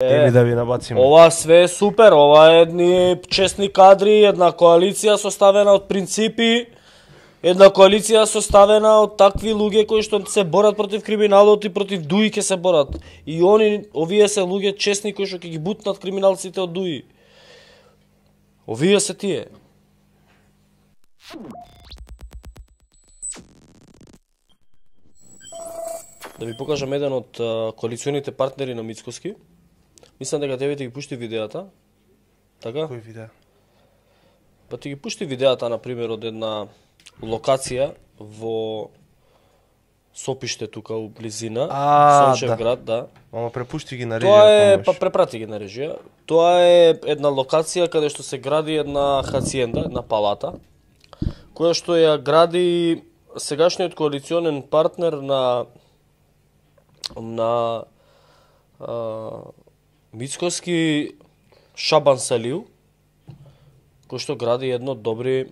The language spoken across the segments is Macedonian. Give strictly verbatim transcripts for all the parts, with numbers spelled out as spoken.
Или да ви набациме. Ова све е супер, ова е едни честни кадри, една коалиција составена од принципи, една коалиција составена од такви луѓе кои што се борат против криминалот и против ДУИ ќе се борат. И они, овие се луѓе честни кои што ќе ги бутнат криминалците од ДУИ. Овие се тие. Да ви покажам еден од коалиционите партнери на Мицкоски. Мислам дека тебе ти ги пушти видеата. Така? Кој видео? Па ти ги пушти видеата, например, од една локација во Сопиште тука у близина, Сончев да. град, да. Ама препушти ги на режија. Тоа е, па препрати ги на режија. Тоа е една локација каде што се гради една хациенда, една палата, која што ја гради сегашниот коалиционен партнер на на а, Мицкоски Шабан Салиу, кој што гради едно добри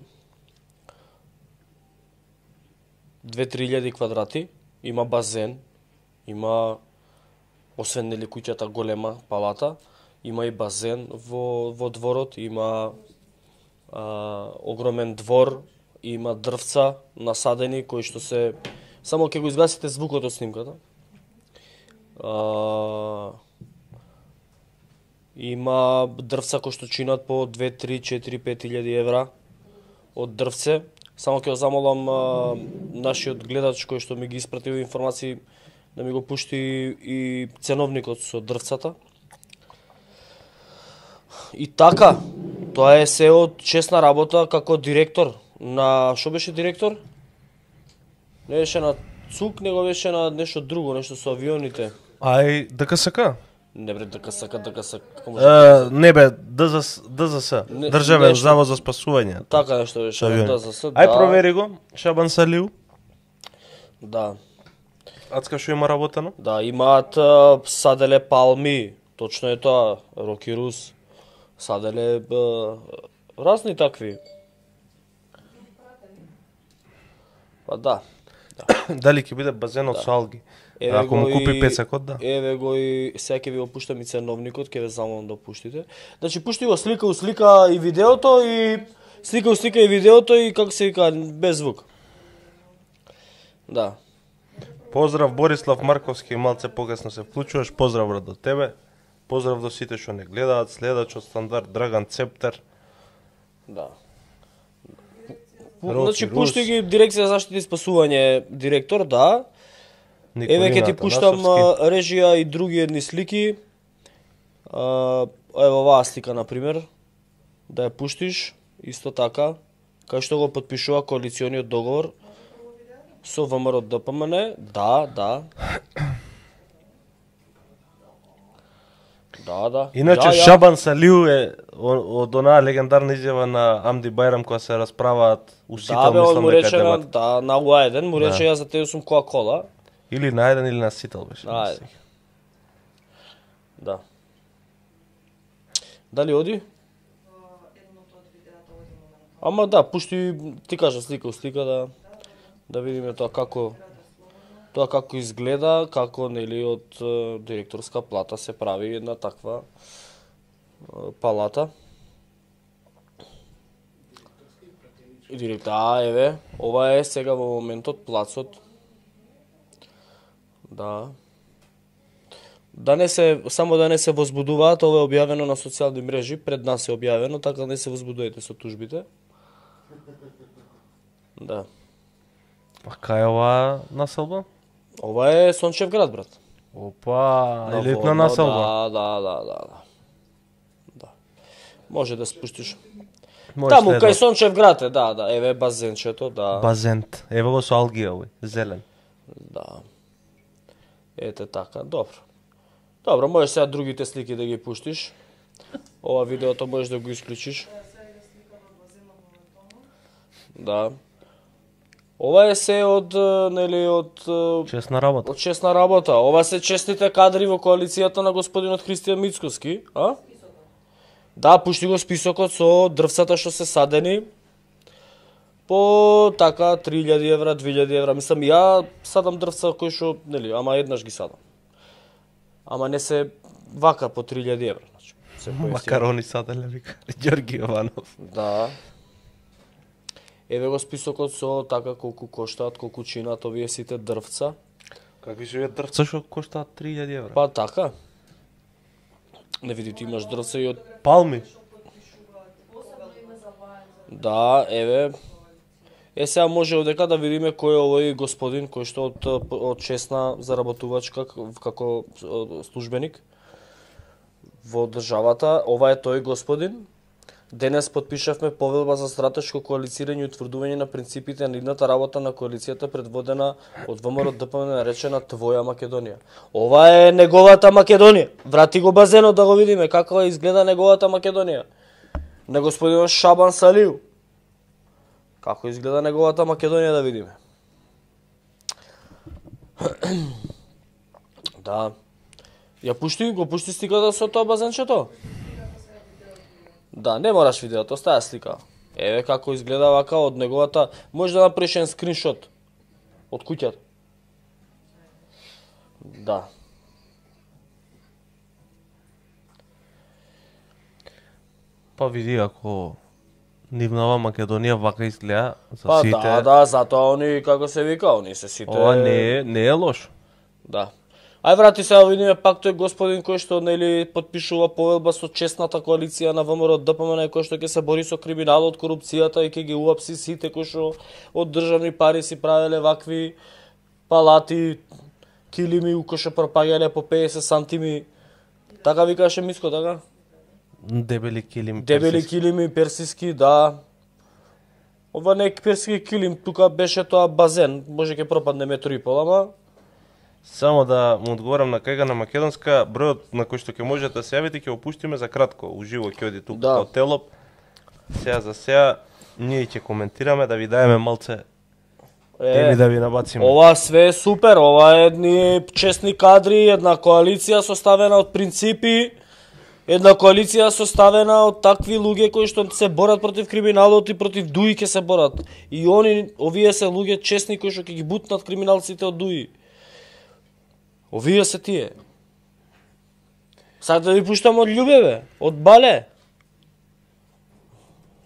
две-три илјади квадрати, има базен, има, освен нели куќата голема палата, има и базен во, во дворот, има а, огромен двор, има дрвца насадени кои што се... Само ќе го изгасите звукот од снимката. А, има дрвца кои што чинат по две, три, четири, пет илјади евра од дрвце. Само ќе го замолам а, нашиот гледач кој што ми ги испратил информации да ми го пушти и ценовникот со дрвцата. И така, тоа е се од честна работа како директор на... Шо беше директор? Не беше на ЦУК, него беше на нешто друго, нешто со авионите. Ај, ДКСК? Не бре, ДКСК, ДКСК. Uh, не бе, ДЗС, ДЗС, Не, Државен нешто... завод за спасување. Така нешто беше, ДЗС, да. Ај провери го, Шабан Салиу. Да. Ацка што има работено? Да, имаат а, саделе палми, точно е тоа, Роки Рус. Саделе а, разни такви. Па да. Да. Дали ќе биде базенот Да. со алги? Еве Ако му го купи и- пецакот, да. Еве го и сега ќе ви го пуштам и ценовникот, ќе ве замолам да пуштите. Значи пушти го слика, услика и видеото и слика, услика и видеото и како се вика без звук. Да. Поздрав Борислав Марковски, малце покасно се вклучуваш. Поздрав брат до тебе. Поздрав до сите што не гледаат, следачот стандард Драган Цептер. Да. Роки Значи Рус. пушти ги дирекција за заштита и спасување директор, да. Еве ќе ти пуштам а, режија и други едни слики. А, ево оваа слика на пример. Да ја пуштиш исто така, кај што го потпишува коалициониот договор со ВМРО ДПМН. Да, да. Да, да. Иначе Ја, ја. Шабан Салиу е о- од онаа легендарна изјава на Амди Байрам кога се расправаат усител, Да, бе, он мислам му дека рече на, дебат. да, на уа еден, му рече Да. ја за тебе сум Кока-кола. Или на еден или на сител беше. Ајде. Да. Дали оди? Ама да, пушти, ти кажа слика, слика да да видиме тоа како тоа како изгледа, како нели од е, директорска плата се прави една таква е, палата. И директор, а еве, ова е сега во моментот плацот. Да. Да не се, само да не се возбудуваат, ова е објавено на социјални мрежи, пред нас е објавено, така не се возбудувајте со тужбите. Да. А кај е оваа населба? Ова е Сончев град, брат. Опа, На елитна водно, населба. Да, да, да, да, да. Да. Може да спуштиш. Може Таму следва. кај Сончев град е, да, да, еве базенчето, да. Базент. Ево го со алгија овој, зелен. Да. Ете така, добро. Добро, можеш сега другите слики да ги пуштиш. Ова видеото можеш да го исклучиш. Да. Ова е се од, е, нели, од, е, Честна работа. од честна работа. Ова се честните кадри во коалицијата на господинот Христијан Мицкоски, а? Да, пушти го списокот со дрвцата што се садени. По така три илјади евра, две илјади евра, мислам ја садам дрвца кои што, нели, ама еднаш ги садам. Ама не се вака по три илјади евра, значи. Макарони саделе вика Ѓорги Јованов. Да. Еве го списокот со така колку коштаат, колку чинат овие сите дрвца. Какви се овие дрвца што коштаат три илјади евра? Па така. Не види, ти имаш дрвца и од палми. Да, еве. Е сега може одека да видиме кој е овој господин кој што од од честна заработувачка како службеник во државата. Ова е тој господин. Денес подпишавме повелба за стратешко коалицирање и утврдување на принципите на идната работа на коалицијата предводена од ВМРО Д П М Н наречена Твоја Македонија. Ова е неговата Македонија. Врати го базенот да го видиме како изгледа неговата Македонија. На господинот Шабан Салиу. Како изгледа неговата Македонија да видиме. Да. Ја пушти, го пушти сликата со тоа базенчето? Да, не мораш видеото, стаја слика. Еве како изгледа вака од неговата, може да направиш еден скриншот од куќата. Да. Па види ако нивнава Македонија вака изгледа за па, сите. Па да, да, затоа они како се вика, они се сите. Ова не е, не е лошо. Да. Ај врати сега видиме пак тој господин кој што нели потпишува повелба со честната коалиција на ВМРО Д П М Н кој што ќе се бори со криминалот, корупцијата и ќе ги уапси сите кои што од државни пари си правеле вакви палати, килими кои што пропаѓале по педесет сантими. Така викаше Миско, така? Дебели килими. Дебели персиски. Килими персиски, да. Ова не е персиски килим, тука беше тоа базен, може ќе пропадне метро и пол, ама само да му одговорам на кајга на македонска, бројот на кој што ќе можете да се јавите ќе опуштиме за кратко, уживо ќе оди тука да. Од Телоп. Сега за сега ние ќе коментираме да ви даеме малце теми е, да ви набациме. Ова све е супер, ова е едни честни кадри, една коалиција составена од принципи, една коалиција составена од такви луѓе кои што се борат против криминалот и против ДУИ ќе се борат. И они, овие се луѓе честни кои што ќе ги бутнат криминалците од ДУИ. Овие се тие. Сад да ви пуштам од Љубеве, од Бале.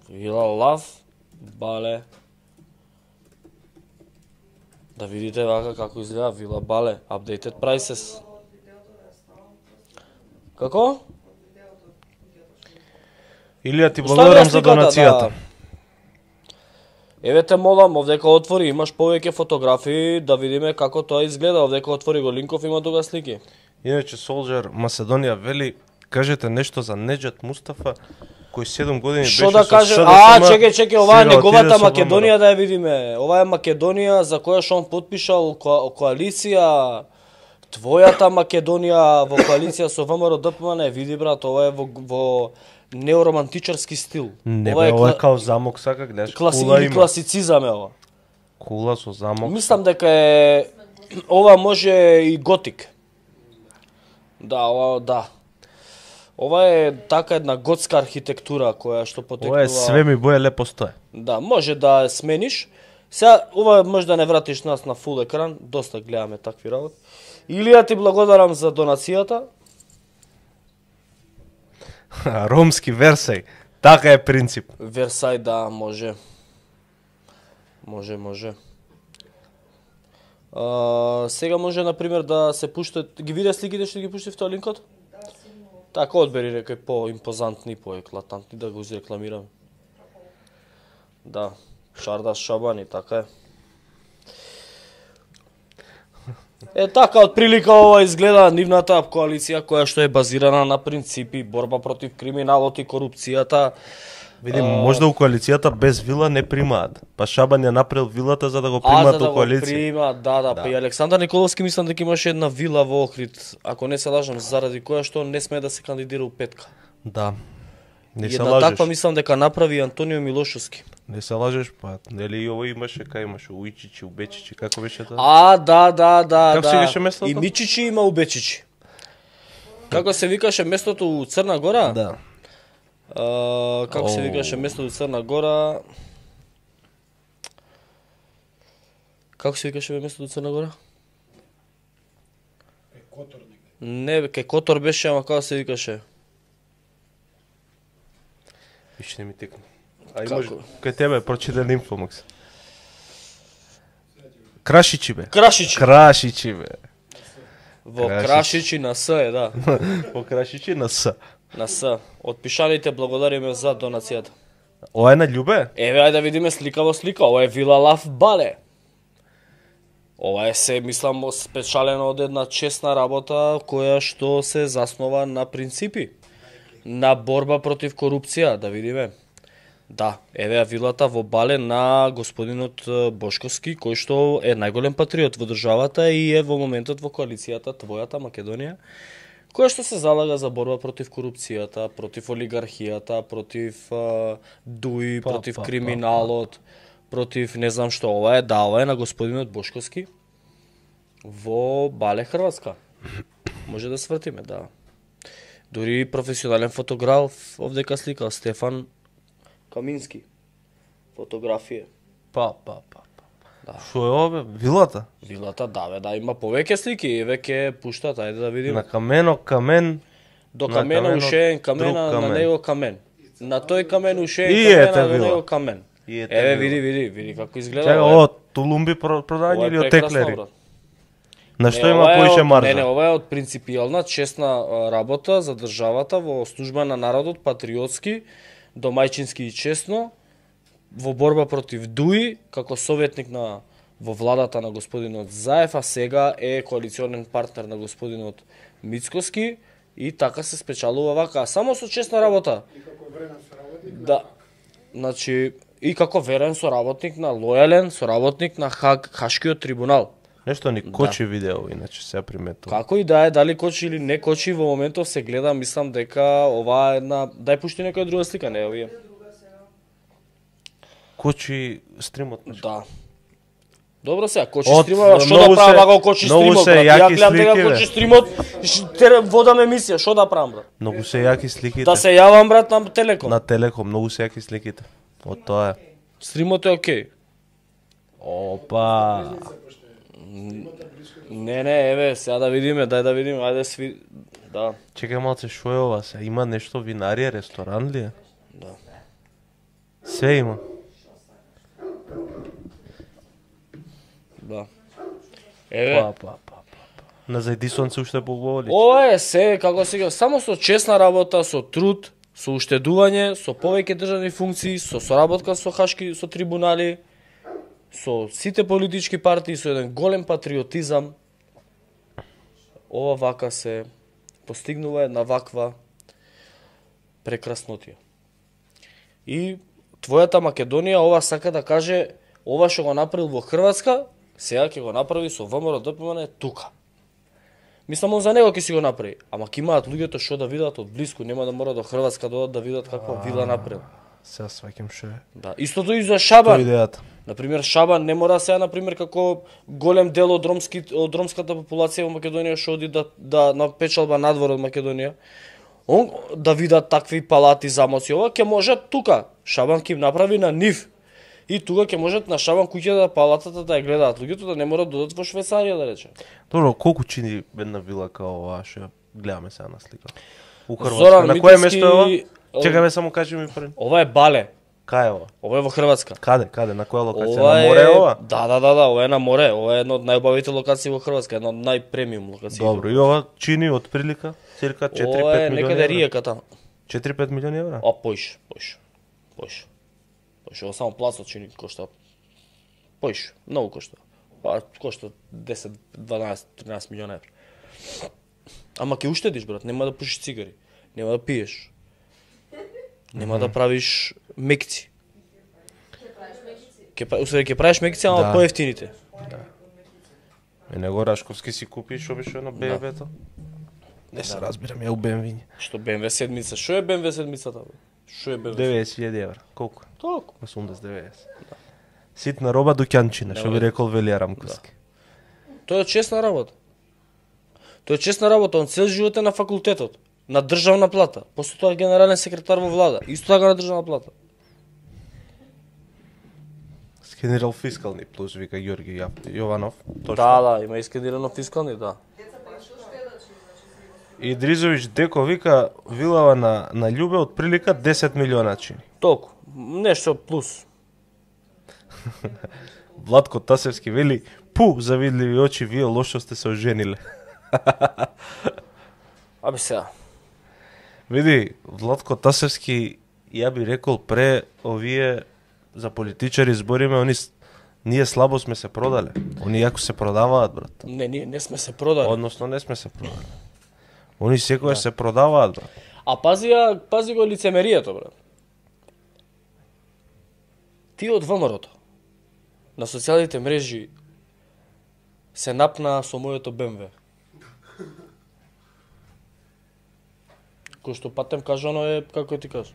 Вила Лав, Бале. Да видите вака како изгледа Вила Бале, updated prices. Како? Илија ти благодарам за донацијата. Да. Еве те молам, овдека отвори, имаш повеќе фотографии, да видиме како тоа изгледа, овдека отвори го линков, има тука слики. Иначе Солџер Македонија вели, кажете нешто за Неџат Мустафа, кој седум години беше Шо да каже? со А, чеке, чеке, ова е неговата Македонија да ја видиме. Ова е Македонија за која што он потпишал ко коалиција, Твојата Македонија во коалиција со ВМРО Д П М Н. Види брат, ова е во, во неоромантичарски стил. Не, ова е, ова е као замок, сака гледаш. Класи, кула има. Класицизам е ова. Кула со замок. Мислам дека е ова може и готик. Да, ова да. Ова е така една готска архитектура која што потекнува. Ова е све ми боја лепо стое. Да, може да смениш. Сега ова може да не вратиш нас на фул екран, доста гледаме такви работи. Илија ти благодарам за донацијата. Ромски Версај, така е принцип. Версај, да, може. Може, може. А, сега може, например, да се пуштат... Ги виде сликите што ги пушти в тој линкот? Да, сигурно. Така, одбери некои по-импозантни, по-еклатантни, да го изрекламираме. Да, Шардаш Шабани, така е. Е така, од прилика ова изгледа нивната коалиција која што е базирана на принципи, борба против криминалот и корупцијата. Видим, а... можда у коалицијата без вила не примаат. Па Шабан ја направил вилата за да го примаат у коалиција. А, за да го примаат, да, да, да. Па и Александар Николовски мислам дека имаше една вила во Охрид, ако не се лажам, заради која што не смее да се кандидира у Петка. Да. Не се една лажеш. таква мислам дека направи Антонио Милошовски. Не се лажеш, па нели и ово имаше, кај имаше Уичичи, Убечичи, како беше тоа? А, да, да, да, како да. се викаше местото? И Мичичи има Убечичи. Како се викаше местото у Црна Гора? Да. А, како oh. се викаше местото у Црна Гора? Како се викаше местото у Црна Гора? Е Которник. Не, кај Котор беше, ама како се викаше? Виш не ми текна. А имаш кај тебе прочитан инфомакс. Крашичи бе. Крашичи. Крашичи бе. Во Крашичи на С е, да. Во Крашичи на С. На С. Од пишаните благодариме за донацијата. Ова е на Љубе? Еве, ајде да видиме слика во слика. Ова е Вила Лав Бале. Ова е се, мислам, спечалено од една честна работа која што се заснова на принципи. На борба против корупција, да видиме. Да, еве вилата во Бале на господинот Бошковски, кој што е најголем патриот во државата и е во моментот во коалицијата Твојата Македонија, која што се залага за борба против корупцијата, против олигархијата, против uh, дуи, па, против па, криминалот, па, па. против не знам што. Ова е, да, ова е на господинот Бошковски во Бале, Хрватска. Може да свртиме, да. Дури професионален фотограф овдека слика Стефан Камински. Фотографија. Па, па, па. Да. Шо е ова, вилата? Вилата, да, бе, да, има повеќе слики, еве ќе пуштат, ајде да видиме. На камено, камен. До камена ушеен камена, камен. На него камен. На тој камен ушеен камена, на него камен. Еве, види, види, види како изгледа. Чека, ова тулумби продање или од теклери? На што има поише маржа? Не, не, ова е од принципијална, честна работа за државата во служба на народот, патриотски, домајчински и честно, во борба против дуи, како советник на во владата на господинот Заев, а сега е коалиционен партнер на господинот Мицкоски и така се спечалува вака, само со честна работа. И како верен соработник. Да. Значи, и како верен соработник на лојален соработник на Хаг, Хашкиот трибунал. Нешто ни кочи да. Видео, иначе се приметува. Како и да е, дали кочи или не кочи, во моментов се гледа, мислам дека ова е една... Дај пушти некоја друга слика, не овие. Кочи стримот. Да. Добро сега, кочи От, стримот, што да правам ако кочи стримот, брат? Ја гледам дека кочи стримот, водам емисија, што да правам, брат? Многу се јаки сликите. Да се јавам, брат, на Телеком. На Телеком, многу се јаки сликите. Од тоа е. Стримот е окей. Опа. Не, не, еве, сега да видиме, дај да видиме, ајде сви... Да. Чекај малце, шо е ова се? Има нешто винарија, ресторан ли е? Да. Све има. Да. Еве. Па, па, па, па. На зајдисонце уште поговори. Ова е се, како сега, само со честна работа, со труд, со уштедување, со повеќе државни функции, со соработка со хашки, со трибунали, со сите политички партии, со еден голем патриотизам, ова вака се постигнува една ваква прекраснотија. И Твојата Македонија ова сака да каже, ова што го направил во Хрватска, сега ќе го направи со ВМРО Д П М Н тука. Мислам, он за него ќе си го направи, ама ќе имаат луѓето што да видат од блиску, нема да мора до Хрватска да одат да видат каква вила направил. Сега сваќам што е. Да, истото и за Шабан. Тоа идејата. Например, Шабан не мора сега, например, како голем дел од ромски од ромската популација во Македонија што оди да да на печалба надвор од Македонија. Он да видат такви палати, замоци, ова ќе можат тука. Шабан ќе им направи на нив. И тука ќе можат на Шабан куќата, палатата да ја гледаат луѓето, да не морат да одат во Швајцарија, да рече. Добро, колку чини една вила као оваа што гледаме сега на слика? У Хрватска. На кое место е ова? Чекај ме само кажи ми пред. Ова е Бале. Кај е ова? Ова е во Хрватска. Каде, каде, на која локација? На море е ова? Да, да, да, да, ова е на море. Ова е една од најубавите локации во Хрватска, една од најпремиум локации. Добро, и ова чини од прилика цирка четири-пет милиони евра. Ова е некаде риека таму. четири-пет милиони евра? А, поиш, поиш. Поиш. Поиш, ова само плацот чини кошта. Поиш, многу кошта. Па кошта десет, дванаесет, тринаесет милиона евра. Ама ќе уштедиш, брат, нема да пушиш цигари, нема да пиеш. Нема да правиш мекци. Ќе правиш мекци? Ќе правиш мекци, ама да. Поевтините. Да. Е него Рашковски си купи што беше едно Б М В-то? Не се разбирам, ја у Б М В. Што Б М В седмица? Што е Б М В седмицата, бе? Што е Б М В? деветдесет илјади евра. Колку? Толку. осумдесет деветдесет. Да. Ситна роба дуќанчина, што би рекол Велија Рамковски. Да. Тоа е честна работа. Тоа е честна работа, он цел живот е на факултетот, на државна плата, после тоа генерален секретар во влада, исто така на државна плата. Скенирал фискални плюс, вика Ѓорги Јованов. Точно. Да, да, има искенирано фискални, да. Идризович Деко вика вилава на на Љубе од прилика десет милиона чини. Толку, нешто плюс. Владко Тасевски вели: "Пу, завидливи очи, вие лошо сте се ожениле." Абе сега. Види, Владко Тасевски, ја би рекол пре овие за политичари збориме, они ние слабо сме се продале. Они јако се продаваат, брат. Не, ние не сме се продали. Односно не сме се продали. Они секојаш да. се продаваат, брат. А пази ја, пази го лицемерието, брат. Ти од ВМРО-то на социјалните мрежи се напна со моето Б М В. Кој што патем кажано е, како ти кажа.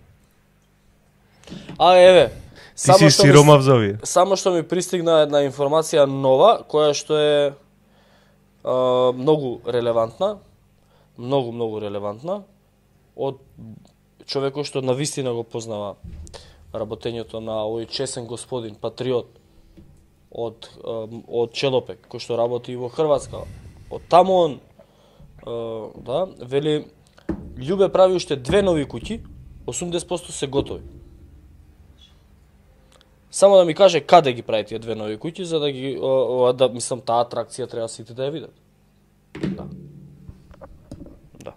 А, еве, ти само си сиромав за овие. Само што ми пристигна една информација нова, која што е а, многу релевантна, многу, многу релевантна, од човекот што навистина го познава работењето на овој чесен господин, патриот, од, од Челопек, кој што работи во Хрватска. Од таму он, да, вели, Љубе прави уште две нови куќи, осумдесет проценти се готови. Само да ми каже каде ги прави тие две нови куќи, за да ги, о, о, да, мислам, таа атракција треба сите да ја видат. Да. Да.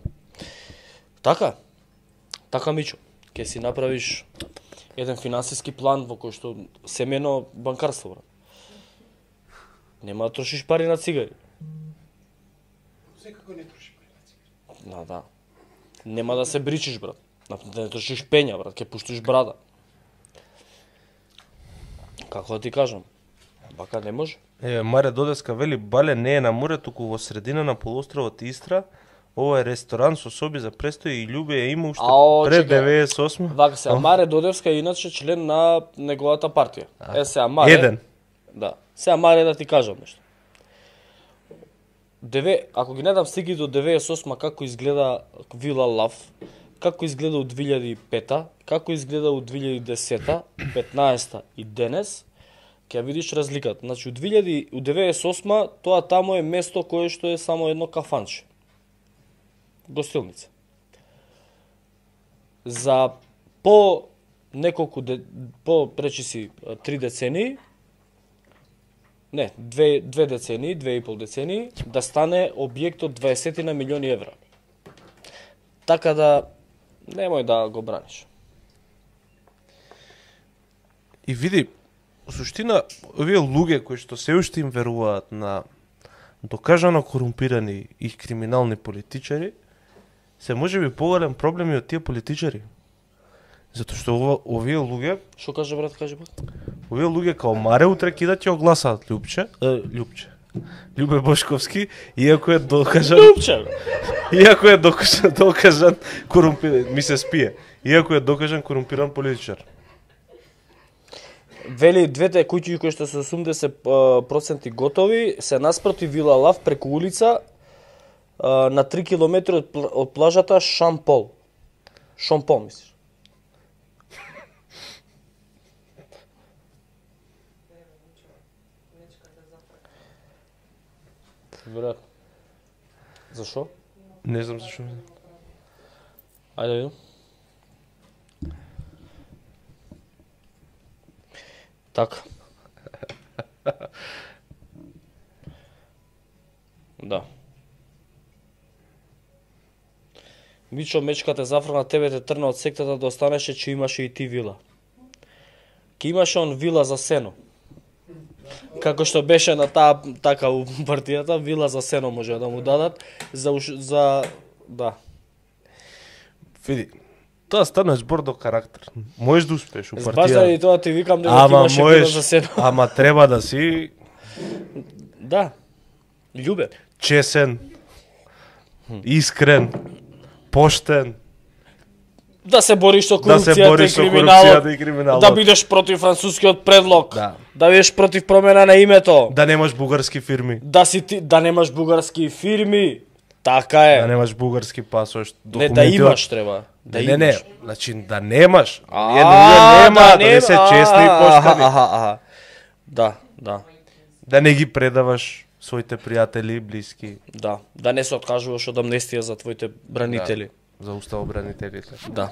Така, така Мичо, ќе си направиш еден финансиски план во кој што семено банкарство, брат. Нема да трошиш пари на цигари. Секако не трошиш пари на цигари. Да, да. Нема да се бричиш, брат. Да не трошиш пења, брат, ќе пуштиш брада. Како да ти кажам? Бака не може. Е, Маре Додеска вели: "Бале не е на море, туку во средина на полуостровот Истра. Ова е ресторан со соби за престој и Љубе ја има уште пред деветдесет и осма." Вака се, Маре Додевска е иначе член на неговата партија. Е, сега Маре... Еден. Да. Сега Маре да ти кажам нешто. Деве, ако ги недам стиги до деветдесет и осма како изгледа Вила Лав, како изгледа од две илјади и пета, како изгледа од две илјади и десета, петнаесета и денес, ќе видиш разликата. Значи, од две илјади од деветдесет и осма тоа таму е место кое што е само едно кафанче. Гостилница. За по неколку де, по речиси три децении, не, две, две децении, две и пол децении, да стане објект од дваесет на милиони евра. Така да, немој да го браниш. И види, во суштина, овие луѓе кои што се уште им веруваат на докажано корумпирани и криминални политичари, се можеби поголем проблем и од тие политичари. Затоа што ова, овие луѓе... Што каже, брат, каже, брат? Овие луѓе као Маре утре ќе да ќе огласаат Љупче, е, Љупче, Љубе Бошковски, иако е докажан... Љупче! Иако е докажан, докажан корумпиран, ми се спие, иако е докажан корумпиран политичар. Вели, двете куќи кои што се осумдесет проценти готови, се наспроти Вила Лав преку улица на три километри од, од плажата Шампол. Шампол, мислиш? Веројатно. Зашо? Не знам зашо. Ајде видам. Така. Да. Мичо, мечката зафрна, тебе те трна од сектата да останеше, че имаше и ти вила. Ке имаше он вила за сено. Како што беше на таа така у партијата, вила за сено може да му дадат за за да. Види, тоа стана збор до карактер. Можеш да успееш у партија. Баш заради тоа ти викам дека имаше вила за сено. Ама треба да си да. Љубе, чесен, искрен, поштен. Да се бориш со корупцијата, да се бориш и, со криминалот, корупцијата и криминалот. Да бидеш против францускиот предлог. Да. Да бидеш против промена на името. Да немаш бугарски фирми. Да си ти, да немаш бугарски фирми. Така е. Да немаш бугарски пасош, документи. Не, да имаш треба. Да не, имаш. Не, не, значи да немаш. А, Ние нема, да, да не се честни и поштени. Аха, аха, аха. Да, да. Да не ги предаваш своите пријатели, блиски. Да, да не се откажуваш од амнестија за твоите бранители. Да, за уставобранителите. Да.